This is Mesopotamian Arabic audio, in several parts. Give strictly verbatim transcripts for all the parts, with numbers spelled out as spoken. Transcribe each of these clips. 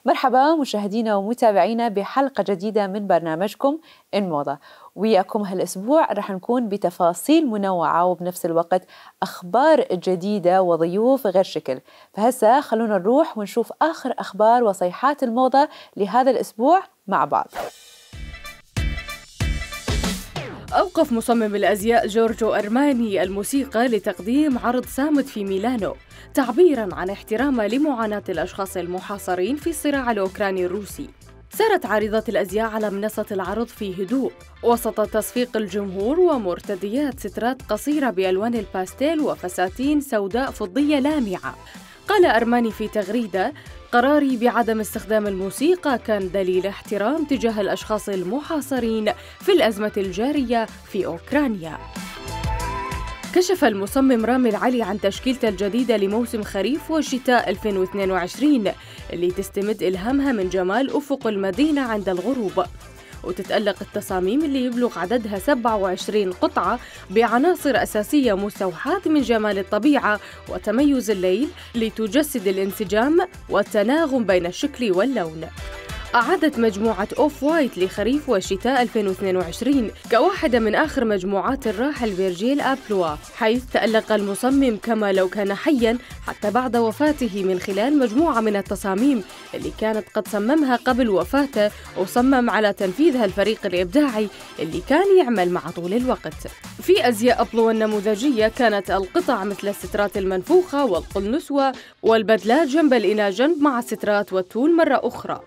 مرحبا مشاهدينا ومتابعينا بحلقة جديدة من برنامجكم إن موضة. وياكم هالأسبوع رح نكون بتفاصيل منوعة وبنفس الوقت أخبار جديدة وضيوف غير شكل. فهسا خلونا نروح ونشوف آخر أخبار وصيحات الموضة لهذا الأسبوع مع بعض. أوقف مصمم الأزياء جورجو أرماني الموسيقى لتقديم عرض صامت في ميلانو تعبيراً عن احترامه لمعاناة الأشخاص المحاصرين في الصراع الأوكراني الروسي. سارت عارضة الأزياء على منصة العرض في هدوء وسط تصفيق الجمهور ومرتديات سترات قصيرة بألوان الباستيل وفساتين سوداء فضية لامعة. قال أرماني في تغريدة: قراري بعدم استخدام الموسيقى كان دليل احترام تجاه الأشخاص المحاصرين في الأزمة الجارية في أوكرانيا. كشف المصمم رامي العلي عن تشكيلته الجديدة لموسم خريف وشتاء ألفين واثنين وعشرين اللي تستمد إلهامها من جمال أفق المدينة عند الغروب، وتتألق التصاميم اللي يبلغ عددها سبعة وعشرين قطعة بعناصر أساسية مستوحاة من جمال الطبيعة وتميز الليل لتجسد الانسجام والتناغم بين الشكل واللون. أعادت مجموعة أوف وايت لخريف وشتاء ألفين واثنين وعشرين كواحدة من آخر مجموعات الراحل فيرجيل أبلوا، حيث تألق المصمم كما لو كان حياً حتى بعد وفاته من خلال مجموعة من التصاميم اللي كانت قد صممها قبل وفاته وصمم على تنفيذها الفريق الإبداعي اللي كان يعمل مع طول الوقت. في أزياء أبلوا النموذجية كانت القطع مثل السترات المنفوخة والقلنسوة والبدلات جنب إلى جنب مع السترات والتول مرة أخرى.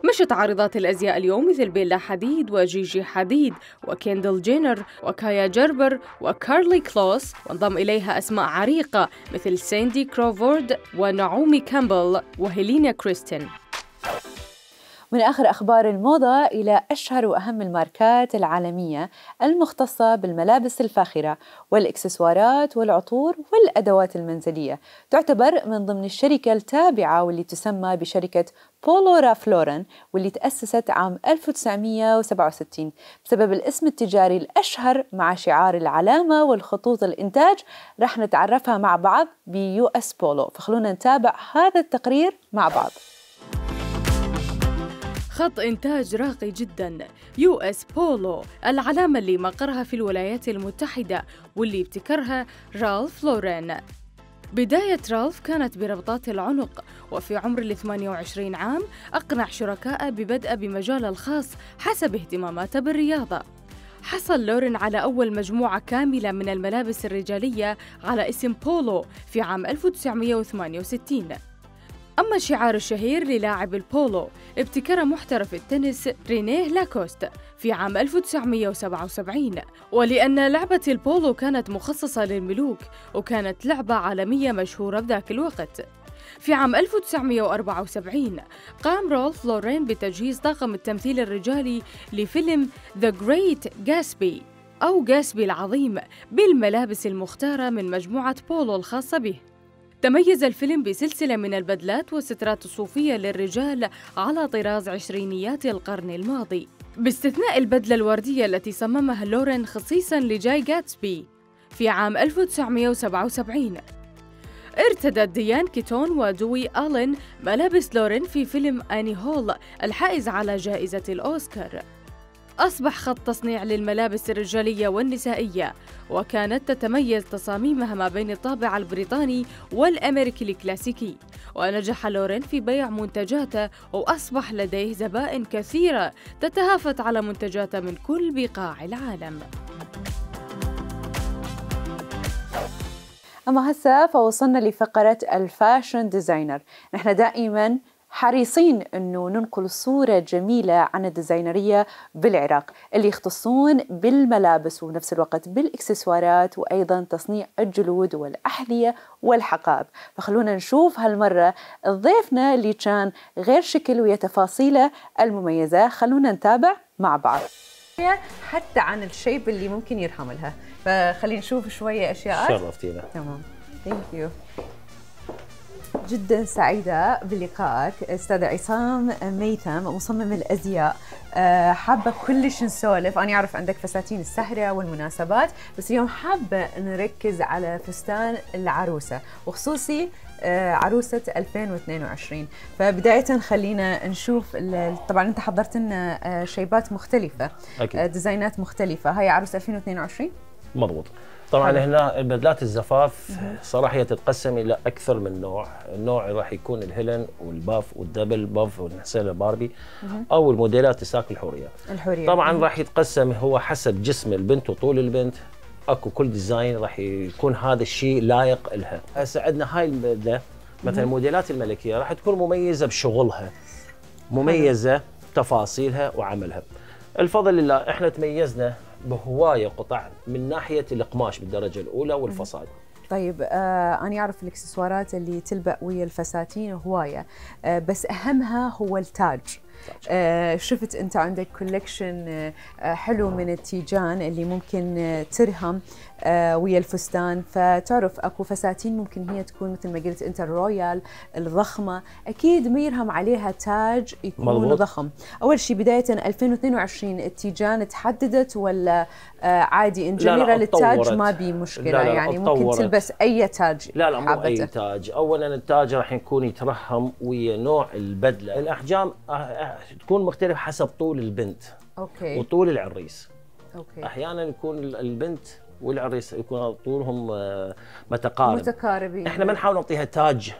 مشت عارضات الأزياء اليوم مثل بيلا حديد وجيجي حديد وكيندل جينر وكايا جربر وكارلي كلوس، وانضم إليها أسماء عريقة مثل ساندي كروفورد ونعومي كامبل وهيلينا كريستين. من آخر أخبار الموضة إلى أشهر وأهم الماركات العالمية المختصة بالملابس الفاخرة والإكسسوارات والعطور والأدوات المنزلية. تعتبر من ضمن الشركة التابعة واللي تسمى بشركة بولو راف لورن، واللي تأسست عام ألف وتسعمئة وسبعة وستين بسبب الاسم التجاري الأشهر مع شعار العلامة والخطوط الإنتاج. رح نتعرفها مع بعض بيو اس بولو، فخلونا نتابع هذا التقرير مع بعض. خط إنتاج راقي جداً، يو اس بولو، العلامة اللي مقرها في الولايات المتحدة واللي ابتكرها رالف لورين. بداية رالف كانت بربطات العنق، وفي عمر الثمانية وعشرين عام أقنع شركائه ببدء بمجاله الخاص حسب اهتماماته بالرياضة. حصل لورين على أول مجموعة كاملة من الملابس الرجالية على اسم بولو في عام ألف وتسعمئة وثمانية وستين. أما الشعار الشهير للاعب البولو ابتكره محترف التنس رينيه لاكوست في عام ألف وتسعمئة وسبعة وسبعين، ولأن لعبة البولو كانت مخصصة للملوك وكانت لعبة عالمية مشهورة بذاك الوقت. في عام ألف وتسعمئة وأربعة وسبعين قام رالف لورين بتجهيز طاقم التمثيل الرجالي لفيلم The Great Gatsby أو جاسبي العظيم بالملابس المختارة من مجموعة بولو الخاصة به. تميز الفيلم بسلسلة من البدلات والسترات الصوفية للرجال على طراز عشرينيات القرن الماضي، باستثناء البدلة الوردية التي صممها لورين خصيصاً لجاي غاتسبي في عام ألف وتسعمئة وسبعة وسبعين. ارتدت ديان كيتون ودوي آلين ملابس لورين في فيلم آني هول الحائز على جائزة الأوسكار. أصبح خط تصنيع للملابس الرجالية والنسائية، وكانت تتميز تصاميمها ما بين الطابع البريطاني والأمريكي الكلاسيكي، ونجح لورين في بيع منتجاته وأصبح لديه زبائن كثيرة تتهافت على منتجاته من كل بقاع العالم. أما هسه فوصلنا لفقرة الفاشن ديزاينر. نحن دائماً حريصين أنه ننقل الصورة جميلة عن الديزاينرية بالعراق اللي يختصون بالملابس ونفس الوقت بالإكسسوارات وأيضا تصنيع الجلود والأحذية والحقائب. فخلونا نشوف هالمرة ضيفنا اللي كان غير شكل ويا تفاصيله المميزة. خلونا نتابع مع بعض حتى عن الشيب اللي ممكن يرحم لها، فخلينا نشوف شوية أشياء. شرفتينا. تمام، ثانك يو. جدا سعيدة بلقائك أستاذ عصام ميثم مصمم الأزياء. آه حابة كلش نسولف. أنا أعرف عندك فساتين السهرة والمناسبات، بس اليوم حابة نركز على فستان العروسة، وخصوصي آه عروسة ألفين واثنين وعشرين. فبداية خلينا نشوف، طبعا أنت حضرت لنا آه شيبات مختلفة، أكيد. آه ديزاينات مختلفة. هاي عروسة ألفين واثنين وعشرين؟ مضبوط. طبعا حلو. هنا بدلات الزفاف صراحه هي تتقسم الى اكثر من نوع. النوع راح يكون الهيلن والباف والدبل باف والنحسيله باربي او الموديلات الساق الحوريه. الحوريه طبعا راح يتقسم هو حسب جسم البنت وطول البنت. اكو كل ديزاين راح يكون هذا الشيء لايق لها. هسه عندنا هاي البدله مثلا الموديلات الملكيه راح تكون مميزه بشغلها، مميزه بتفاصيلها وعملها. الفضل لله احنا تميزنا بهوايه قطع من ناحيه القماش بالدرجه الاولى والفصاد. طيب آه انا اعرف الاكسسوارات اللي تلبق ويا الفساتين هوايه، آه بس اهمها هو التاج. آه شفت انت عندك كولكشن آه حلو من التيجان اللي ممكن آه ترهم آه ويا الفستان. فتعرف اكو فساتين ممكن هي تكون مثل ما قلت انت الرويال الضخمه، اكيد ما يرهم عليها تاج يكون مضبوط. ضخم. اول شيء بدايه ألفين واثنين وعشرين التيجان تحددت ولا آه عادي ان جنرال التاج ما بي مشكله؟ لا لا يعني ممكن تلبس اي تاج. لا لا مو اي تاج. اولا التاج راح يكون يترهم ويا نوع البدله. الاحجام تكون مختلفه حسب طول البنت اوكي وطول العريس. اوكي احيانا يكون البنت والعريس يكون طولهم متقارب متقاربين. احنا ما نحاول نعطيها تاج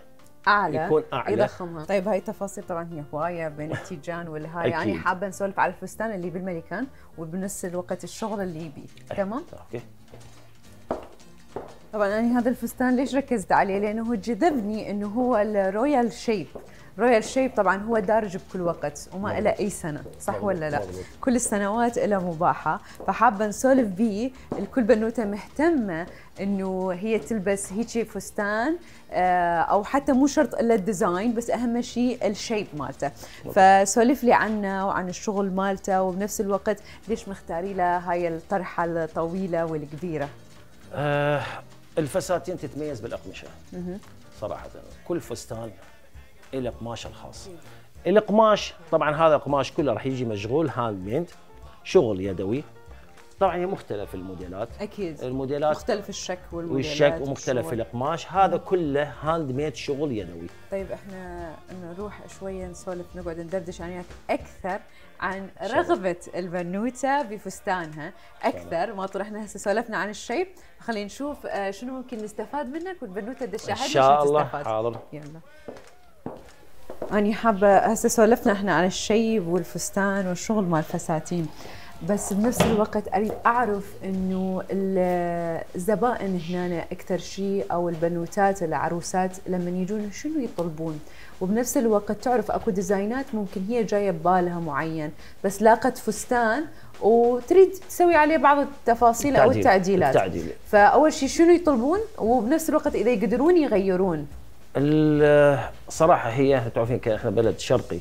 اعلى يكون اعلى يضخمها. طيب هاي التفاصيل طبعا هي هوايه بين التيجان والهاي. يعني حابه نسولف على الفستان اللي بالملكان وبنفس الوقت الشغل اللي يبي. تمام اوكي. طبعا انا هذا الفستان ليش ركزت عليه؟ لانه جذبني انه هو الرويال شيب. رويال شيب طبعا هو دارج بكل وقت وما له اي سنه، صح ولا لا؟ مضبوط. كل السنوات له مباحه. فحابه نسولف بيه. الكل بنوته مهتمه انه هي تلبس هيجي فستان او حتى مو شرط الا الديزاين، بس اهم شيء الشيب مالته. فسولف لي عنه وعن الشغل مالته، وبنفس الوقت ليش مختاري له هاي الطرحه الطويله والكبيره؟ آه الفساتين تتميز بالاقمشه صراحه. كل فستان له قماشه الخاص. القماش طبعا هذا القماش كله راح يجي مشغول هاند ميد، شغل يدوي. طبعا هي مختلف الموديلات، اكيد الموديلات مختلف الشك والموديلات والشك ومختلف القماش. هذا كله هاند ميد شغل يدوي. طيب احنا نروح شويه نسولف نقعد ندردش عنك اكثر عن رغبه البنوته بفستانها اكثر ما طرحنا هسه سولفنا عن الشيب. خلينا نشوف شنو ممكن نستفاد منك والبنوته تشاهدنا ان شاء الله. حاضر. يلا. أنا حابة هسه سولفنا احنا عن الشيب والفستان والشغل مال الفساتين، بس بنفس الوقت اريد اعرف انه الزبائن هنا اكثر شيء او البنوتات العروسات لما يجون شنو يطلبون، وبنفس الوقت تعرف اكو ديزاينات ممكن هي جايه ببالها معين بس لاقت فستان وتريد تسوي عليه بعض التفاصيل او التعديلات. التعديل. فاول شيء شنو يطلبون، وبنفس الوقت اذا يقدرون يغيرون. الصراحه هي تعرفين احنا بلد شرقي،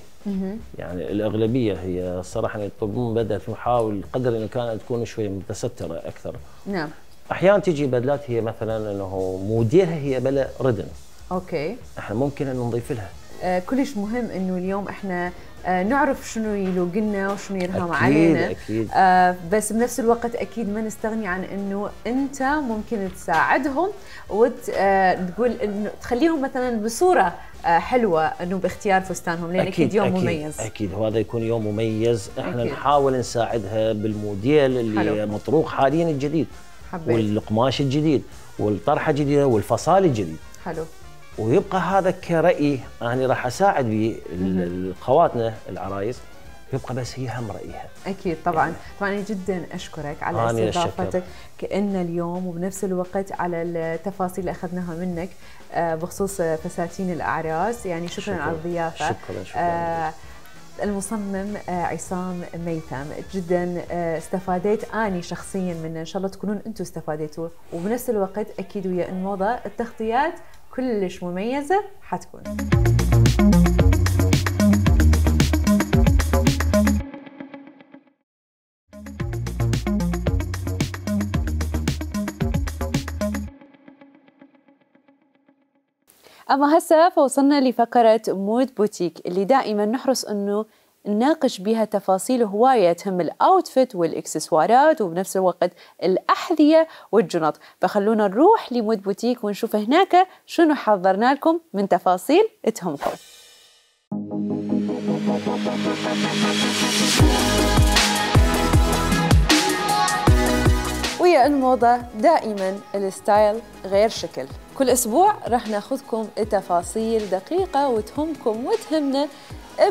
يعني الاغلبيه هي صراحه يطلبون بدل نحاول قدر الامكان تكون شويه متستره اكثر. نعم. احيانا تجي بدلات هي مثلا انه موديلها هي بلا ردن. اوكي. احنا ممكن ان نضيف لها. آه كلش مهم انه اليوم احنا آه نعرف شنو يلوق لنا وشنو يرهم أكيد علينا. اكيد آه بس بنفس الوقت اكيد ما نستغني عن انه انت ممكن تساعدهم وتقول آه انه تخليهم مثلا بصوره آه حلوه انه باختيار فستانهم، لان اكيد, أكيد يوم أكيد مميز. اكيد وهذا يكون يوم مميز. احنا أكيد. نحاول نساعدها بالموديل اللي حلو. مطروق حاليا الجديد. حبيت. والقماش الجديد والطرحه الجديده والفصال الجديد. حلو. ويبقى هذا كرأي انا راح اساعد به خواتنا العرايس، يبقى بس هي هم رايها. اكيد طبعا. طبعا جدا اشكرك على استضافتك كأن اليوم، وبنفس الوقت على التفاصيل اللي اخذناها منك بخصوص فساتين الاعراس. يعني شكرا, شكرا على الضيافه. شكرا شكرا. آه المصمم عصام ميثم، جدا استفاديت اني شخصيا منه، ان شاء الله تكونون انتم استفاديتوا، وبنفس الوقت اكيد ويا الموضه التغطيات كلش مميزه حتكون. أما هسه فوصلنا لفقرة مود بوتيك اللي دائما نحرص أنه نناقش بها تفاصيل هواية تهم الأوتفيت والإكسسوارات وبنفس الوقت الأحذية والجنط. فخلونا نروح لمود بوتيك ونشوف هناك شنو حضرنا لكم من تفاصيل تهمكم. ويا الموضة دائما الستايل غير شكل. كل أسبوع راح ناخذكم تفاصيل دقيقة وتهمكم وتهمنا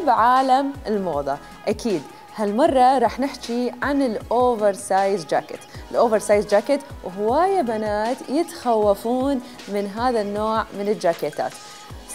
بعالم الموضة. أكيد هالمرة راح نحكي عن الأوفر سايز جاكيت. الأوفر سايز جاكيت وهواية بنات يتخوفون من هذا النوع من الجاكيتات.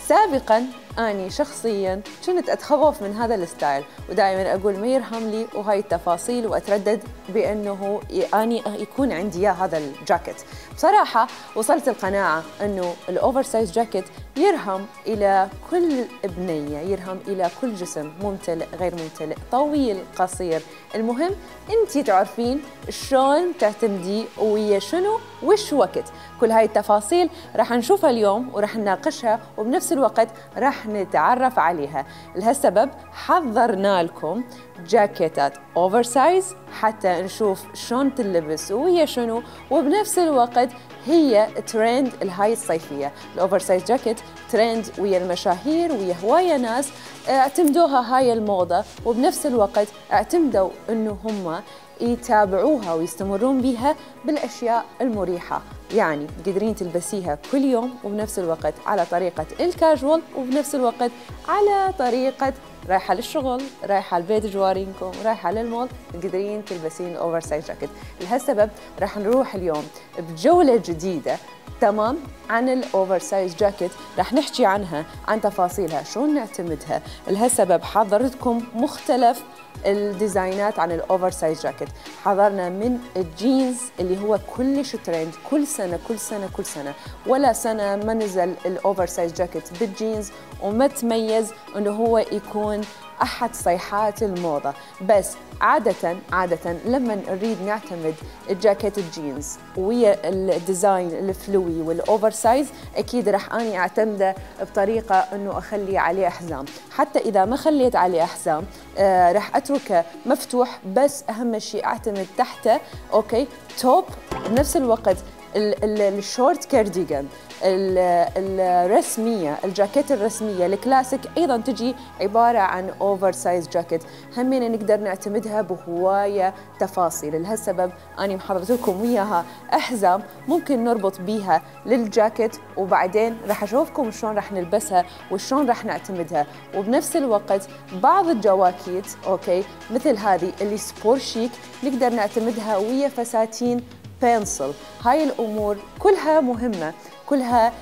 سابقاً أني شخصياً كنت أتخوف من هذا الستايل ودائماً أقول ما يرهم لي وهاي التفاصيل وأتردد بأنه أني يكون عندي إياه هذا الجاكيت. بصراحة وصلت القناعة أنه الأوفر سايز جاكيت يرهم إلى كل بنية، يرهم إلى كل جسم، ممتلئ غير ممتلئ، طويل قصير، المهم أنتي تعرفين شلون تعتمدي ويا شنو وش وقت. كل هاي التفاصيل راح نشوفها اليوم وراح نناقشها وبنفس الوقت راح نتعرف عليها. لهالسبب حضرنا لكم جاكيتات اوفر سايز حتى نشوف شلون تلبس ويا شنو، وبنفس الوقت هي ترند الهاي الصيفية. الاوفر سايز جاكيت ترند ويا المشاهير ويا هواية ناس اعتمدوها هاي الموضة، وبنفس الوقت اعتمدوا انه هم يتابعوها ويستمرون بها بالأشياء المريحة، يعني قادرين تلبسيها كل يوم وبنفس الوقت على طريقة الكاجوال وبنفس الوقت على طريقة رايحة للشغل، رايحة البيت جوارينكم، رايحة للمول، قادرين تلبسين الأوفر سايز جاكيت. لهالسبب راح نروح اليوم بجولة جديدة تمام عن الأوفر سايز جاكيت، راح نحكي عنها، عن تفاصيلها، شلون نعتمدها. لهالسبب حضرتكم مختلف الديزاينات عن الاوفر سايز جاكيت. حضرنا من الجينز اللي هو كلش ترند كل سنه كل سنه كل سنه، ولا سنه ما نزل الاوفر سايز جاكيت بالجينز وما تميز انه هو يكون احد صيحات الموضه. بس عاده عاده لما نريد نعتمد الجاكيت الجينز ويا الديزاين الفلوي والاوفر سايز، اكيد راح اني اعتمده بطريقه انه اخلي عليه احزام. حتى اذا ما خليت عليه احزام آه راح اتركه مفتوح، بس اهم شيء اعتمد تحته اوكي توب. بنفس الوقت الشورت كارديغان الرسمية، الجاكيت الرسمية الكلاسيك أيضا تجي عبارة عن أوفر سايز جاكيت، همين نقدر نعتمدها بهواية تفاصيل. لهالسبب أنا محضرت لكم وياها أحزام ممكن نربط بيها للجاكيت، وبعدين راح أشوفكم شلون راح نلبسها وشلون راح نعتمدها. وبنفس الوقت بعض الجواكيت أوكي مثل هذه اللي سبور شيك نقدر نعتمدها ويا فساتين بنسل. هاي الأمور كلها مهمة، كلها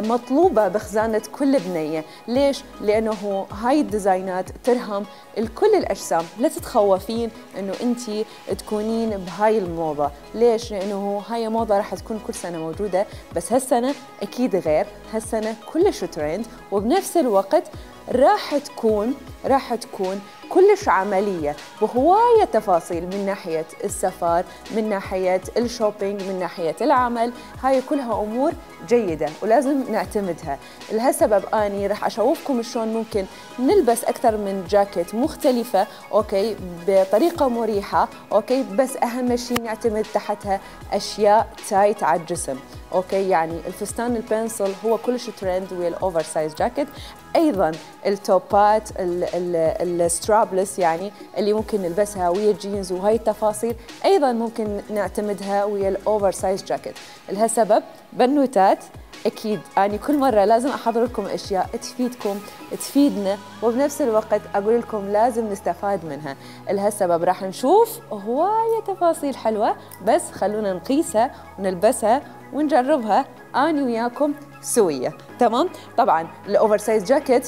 مطلوبة بخزانة كل بنية. ليش؟ لأنه هاي الديزاينات ترهم الكل الأجسام. لا تتخوفين أنه أنتي تكونين بهاي الموضة. ليش؟ لأنه هاي موضة راح تكون كل سنة موجودة، بس هالسنة أكيد غير، هالسنة كلش ترند، وبنفس الوقت راح تكون راح تكون كلش عملية بهواية تفاصيل، من ناحية السفر، من ناحية الشوبينج، من ناحية العمل. هاي كلها أمور جيدة ولازم نعتمدها. لهالسبب أني راح أشوفكم شلون ممكن نلبس أكثر من جاكيت مختلفة أوكي بطريقة مريحة أوكي، بس أهم شيء نعتمد تحتها أشياء تايت على الجسم أوكي. يعني الفستان البنسل هو كلش ترند ويا الأوفر سايز جاكيت. أيضا التوبات السترابلس يعني اللي ممكن نلبسها ويا الجينز وهاي التفاصيل أيضا ممكن نعتمدها ويا الأوفر سايز جاكيت. لهالسبب بنوتات أكيد أنا كل مرة لازم أحضر لكم أشياء تفيدكم تفيدنا، وبنفس الوقت أقول لكم لازم نستفاد منها. لهالسبب راح نشوف هواية تفاصيل حلوة، بس خلونا نقيسها ونلبسها ونجربها أنا وياكم سوية تمام. طبعا الأوفر سايز جاكيت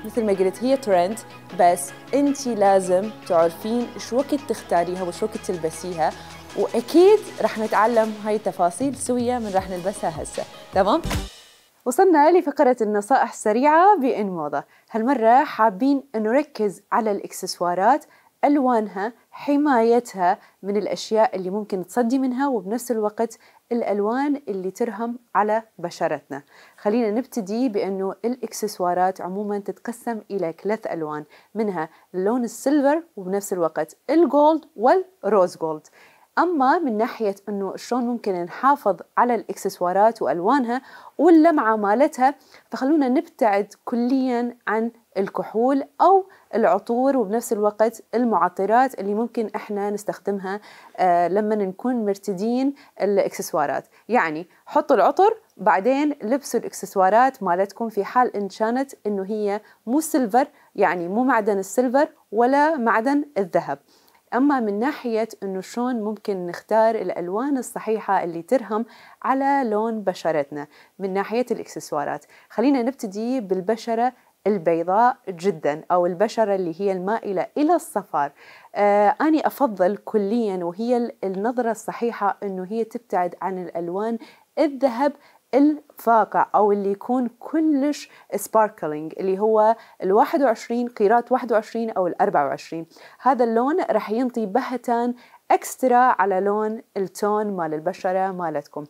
مثل ما قلت هي ترند، بس انتي لازم تعرفين شو وقت تختاريها وشو وقت تلبسيها، واكيد راح نتعلم هاي التفاصيل سوية من راح نلبسها هسه تمام. وصلنا لفقرة النصائح السريعة بإن موضة. هالمرة حابين نركز على الإكسسوارات، ألوانها، حمايتها من الأشياء اللي ممكن تصدي منها، وبنفس الوقت الألوان اللي ترهم على بشرتنا. خلينا نبتدي بأنه الإكسسوارات عموما تتقسم إلى ثلاث ألوان، منها اللون السيلفر وبنفس الوقت الجولد والروز جولد. أما من ناحية أنه شلون ممكن نحافظ على الإكسسوارات وألوانها واللمعة مالتها، فخلونا نبتعد كليا عن الكحول أو العطور وبنفس الوقت المعطرات اللي ممكن إحنا نستخدمها آه لما نكون مرتدين الإكسسوارات. يعني حطوا العطر بعدين لبسوا الإكسسوارات مالتكم في حال إن كانت إنه هي مو سيلفر، يعني مو معدن السيلفر ولا معدن الذهب. أما من ناحية إنه شلون ممكن نختار الألوان الصحيحة اللي ترهم على لون بشرتنا من ناحية الإكسسوارات، خلينا نبتدي بالبشرة البيضاء جدا أو البشرة اللي هي المائلة إلى الصفار. آه أنا أفضل كليا وهي النظرة الصحيحة إنه هي تبتعد عن الألوان الذهب الفاقع أو اللي يكون كلش سباركلينج، اللي هو الواحد وعشرين قيراط واحد وعشرين أو الأربعة وعشرين. هذا اللون رح ينطي بهتان أكسترا على لون التون مال البشرة مالتكم.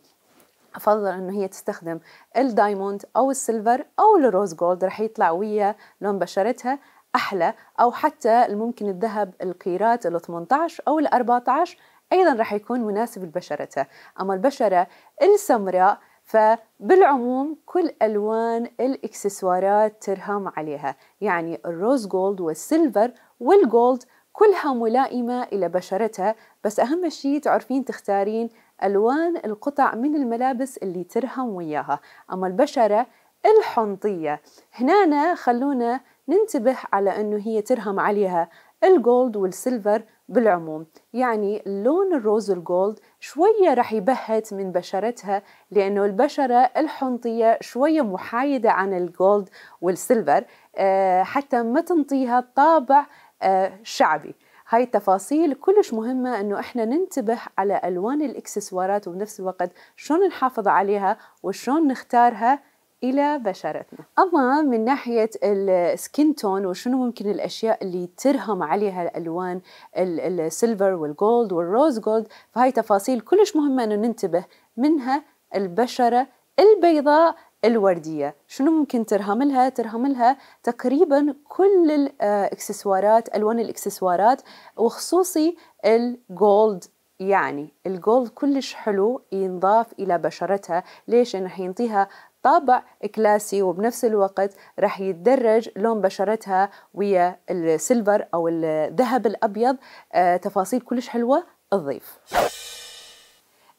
أفضل إنه هي تستخدم الدايموند أو السيلفر أو الروز جولد، رح يطلع ويا لون بشرتها أحلى، أو حتى ممكن الذهب القيراط ال ثمانية عشر أو ال أربعة عشر أيضا رح يكون مناسب لبشرتها. أما البشرة السمراء فبالعموم كل ألوان الإكسسوارات ترهم عليها، يعني الروز جولد والسيلفر والجولد كلها ملائمة إلى بشرتها، بس أهم شيء تعرفين تختارين ألوان القطع من الملابس اللي ترهم وياها. أما البشرة الحنطية هنا خلونا ننتبه على أنه هي ترهم عليها الجولد والسيلفر بالعموم، يعني لون الروز الجولد شوية رح يبهت من بشرتها، لأنه البشرة الحنطية شوية محايدة عن الجولد والسيلفر أه حتى ما تنطيها طابع أه شعبي. هاي التفاصيل كلش مهمة أنه إحنا ننتبه على ألوان الإكسسوارات وبنفس الوقت شلون نحافظ عليها وشلون نختارها إلى بشرتنا. أما من ناحية السكين تون وشنو ممكن الأشياء اللي ترهم عليها الألوان السيلفر والجولد والروز جولد، فهاي تفاصيل كلش مهمة أنه ننتبه منها. البشرة البيضاء الوردية شنو ممكن ترهم لها؟ ترهم لها تقريبا كل الإكسسوارات، ألوان الإكسسوارات وخصوصي الجولد. يعني الجولد كلش حلو ينضاف إلى بشرتها. ليش؟ إنه حينطيها طابع كلاسي وبنفس الوقت رح يتدرج لون بشرتها ويا السيلفر أو الذهب الأبيض. آه تفاصيل كلش حلوة تضيف.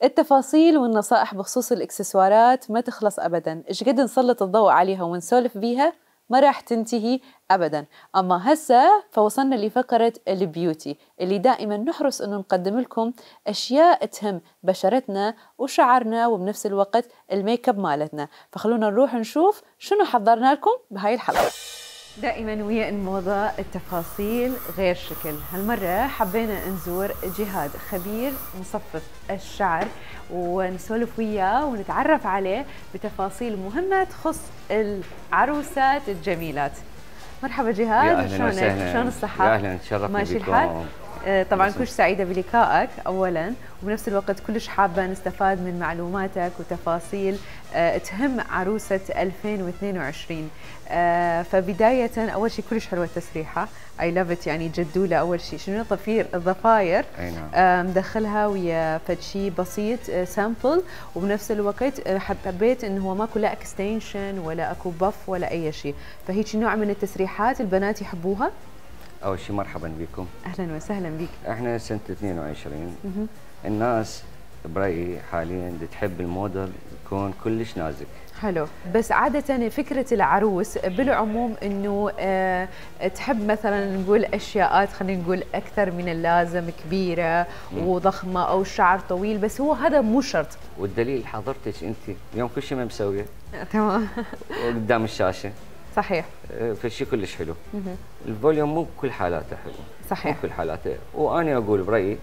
التفاصيل والنصائح بخصوص الإكسسوارات ما تخلص أبداً، إيش قد نسلط الضوء عليها ونسولف بيها ما راح تنتهي أبداً. أما هسه فوصلنا لفقرة البيوتي اللي دائماً نحرص أنه نقدم لكم أشياء تهم بشرتنا وشعرنا وبنفس الوقت الميك اب مالتنا. فخلونا نروح نشوف شنو حضرنا لكم بهاي الحلقة. دائما ويا الموضة التفاصيل غير شكل. هالمرة حبينا نزور جهاد خبير مصفف الشعر ونسولف وياه ونتعرف عليه بتفاصيل مهمة تخص العروسات الجميلات. مرحبا جهاد، شلونك؟ شلون الصحة؟ يا اهلا، تشرفنا ماشي الحال؟ طبعا كلش سعيدة بلقائك أولا، وبنفس الوقت كلش حابة نستفاد من معلوماتك وتفاصيل تهم عروسة ألفين واثنين وعشرين. فبداية أول شيء كلش حلوة التسريحة، اي لاف ات، يعني جدولة. أول شيء شنو ضفير الضفاير مدخلها ويا فد شيء بسيط سامبل، وبنفس الوقت حبيت إنه هو ماكو لا اكستنشن ولا اكو بف ولا أي شيء، فهيك نوع من التسريحات البنات يحبوها. أول شيء مرحبا بكم. أهلا وسهلا بك. احنا سنة اثنين وعشرين، الناس برأيي حاليا تحب الموديل يكون كلش نازك. حلو، بس عادة فكرة العروس بالعموم انه أه تحب مثلا نقول اشياءات، خلينا نقول اكثر من اللازم، كبيرة مم. وضخمة او شعر طويل، بس هو هذا مو شرط. والدليل حضرتك انت اليوم كل شيء ما مسويه. تمام. قدام الشاشة. صحيح. فالشيء كلش حلو. مم. الفوليوم مو بكل حالاته حلو. صحيح. مو بكل حالاته، وانا اقول برايي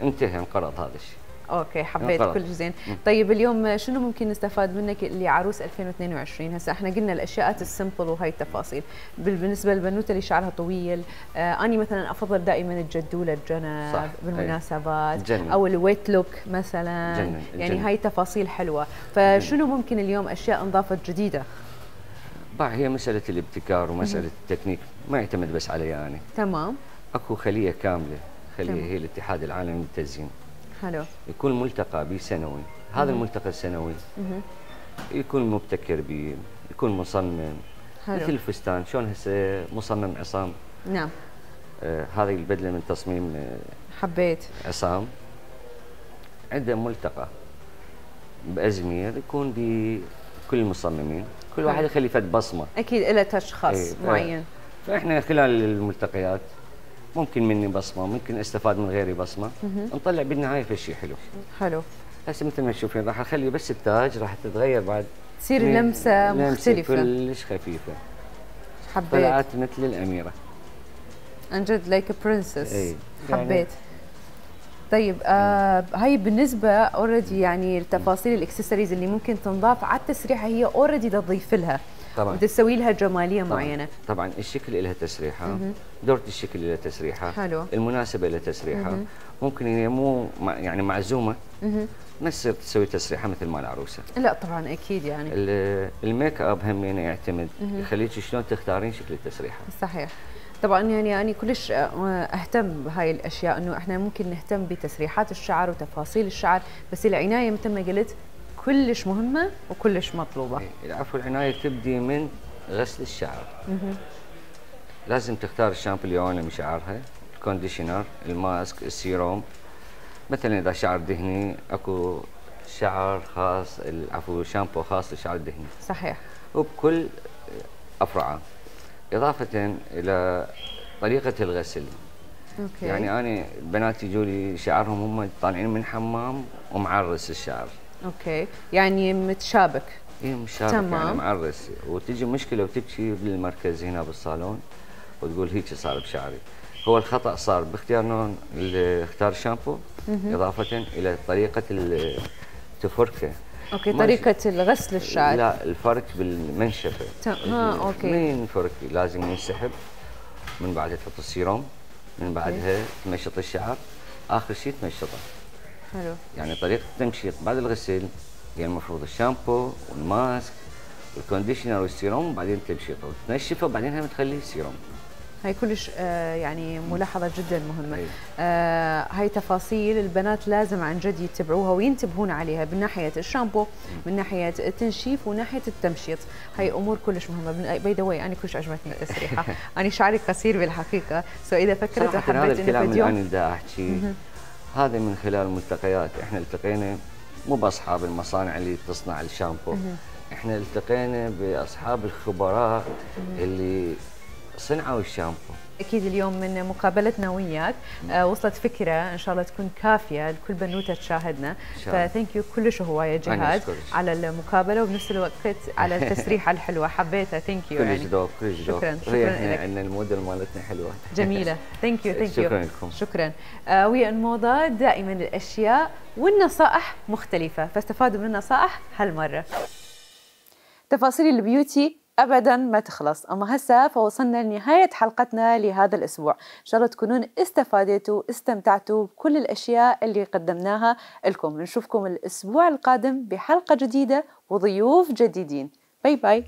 انتهى انقرض هذا الشيء. اوكي حبيت كل شيء زين. طيب اليوم شنو ممكن نستفاد منك اللي عروس ألفين واثنين وعشرين؟ هسه احنا قلنا الاشياء السمبل وهي التفاصيل، بالنسبه للبنوته اللي شعرها طويل، آه اني مثلا افضل دائما الجدوله الجنب بالمناسبات جنن. او الويت لوك مثلا جنن. يعني جنن. هاي تفاصيل حلوه، فشنو ممكن اليوم اشياء انضافت جديده؟ بقى هي مساله الابتكار ومساله التكنيك، ما يعتمد بس علي يعني. انا تمام. اكو خليه كامله، خليه تمام. هي الاتحاد العالمي للتزيين. حلو. يكون ملتقى به سنوي، هذا الملتقى السنوي يكون مبتكر به، يكون مصمم. حلو. مثل الفستان، شلون هسه مصمم عصام. نعم. آه هذه البدله من تصميم آه حبيت عصام. عنده ملتقى بازمير يكون بكل المصممين، كل واحد يخلي فد بصمه. اكيد له تاتش خاص ايه معين. فاحنا خلال الملتقيات ممكن مني بصمه، ممكن استفاد من غيري بصمه، نطلع بالنهايه في شيء حلو. حلو. هسه مثل ما تشوفين راح اخلي بس التاج راح تتغير بعد، تصير لمسه مختلفه كلش خفيفه. حبيت. طلعت مثل الاميره. عن جد لايك برنسس. اي حبيت. يعني طيب آه هاي بالنسبه اوريدي يعني التفاصيل الاكسسوارز اللي ممكن تنضاف على التسريحه هي اوريدي تضيف لها. طبعا وتسوي لها جماليه طبعًا. معينه. طبعا الشكل لها تسريحه، دورة الشكل لها تسريحه. حلو. المناسبه لها تسريحه. مه. ممكن هي مو يعني معزومه ما تصير تسوي تسريحه مثل مال العروسه. لا طبعا اكيد يعني. الميك اب هم يعني يعتمد يخليك شلون تختارين شكل التسريحه. صحيح. طبعا يعني انا كلش اهتم بهاي الاشياء، انه احنا ممكن نهتم بتسريحات الشعر وتفاصيل الشعر، بس العنايه مثل ما قلت كلش مهمه وكلش مطلوبه. العفو، العنايه تبدي من غسل الشعر. مه. لازم تختار الشامبو اللي يعاون شعرها، الكونديشنر، الماسك، السيروم. مثلا اذا شعر دهني اكو شعر خاص، العفو شامبو خاص للشعر الدهني. صحيح. وبكل افرعه. اضافه الى طريقه الغسل. اوكي. يعني انا البنات يجوا لي شعرهم هم طالعين من حمام ومعرس الشعر. اوكي، يعني متشابك. اي مشابك. تمام. يعني معرس، وتجي مشكله وتبكي بالمركز هنا بالصالون وتقول هيك صار بشعري. هو الخطا صار باختيار نوع اختار الشامبو، اضافه الى طريقه التفركه. اوكي، طريقه الغسل الشعر. لا، الفرك بالمنشفه. اه اوكي. من الفرك لازم ينسحب، من بعدها تحط السيروم، من بعدها تمشط الشعر، اخر شيء تمشطه. حلو. يعني طريقه التمشيط بعد الغسل هي المفروض الشامبو والماسك والكونديشنر والسيروم، وبعدين تمشيطه وتنشفه وبعدين هم تخليه سيروم. هاي كلش آه يعني ملاحظة جدا مهمة. آه هاي تفاصيل البنات لازم عن جد يتبعوها وينتبهون عليها، من ناحية الشامبو، من ناحية التنشيف، وناحية التمشيط. هاي أمور كلش مهمة. باي ذا واي أنا كلش عجبتني التسريحة. أنا شعري قصير بالحقيقة، سو إذا فكرت وحبيت هذا الكلام اللي أنا بدي أحكي هذا من خلال ملتقيات. إحنا التقينا مو بأصحاب المصانع اللي تصنع الشامبو، إحنا التقينا بأصحاب الخبراء اللي صنعوا الشامبو. اكيد اليوم من مقابلتنا وياك آه وصلت فكره ان شاء الله تكون كافيه لكل بنوته تشاهدنا، فثانك يو كلش هوايه جهاد على المقابله وبنفس الوقت على التسريحه الحلوه، حبيتها. ثانك يو. كلش ذوق، كلش ذوق. شكرا شكرا لك. عندنا الموديل مالتنا حلوه جميله. ثانك يو ثانك يو. شكرا لكم. شكرا. آه ويا الموضه دائما الاشياء والنصائح مختلفه، فاستفادوا من النصائح هالمره. تفاصيل البيوتي ابدا ما تخلص، اما هسه فوصلنا لنهايه حلقتنا لهذا الاسبوع، ان شاء الله تكونون استفادتوا استمتعتوا بكل الاشياء اللي قدمناها لكم. نشوفكم الاسبوع القادم بحلقه جديده وضيوف جديدين. باي باي.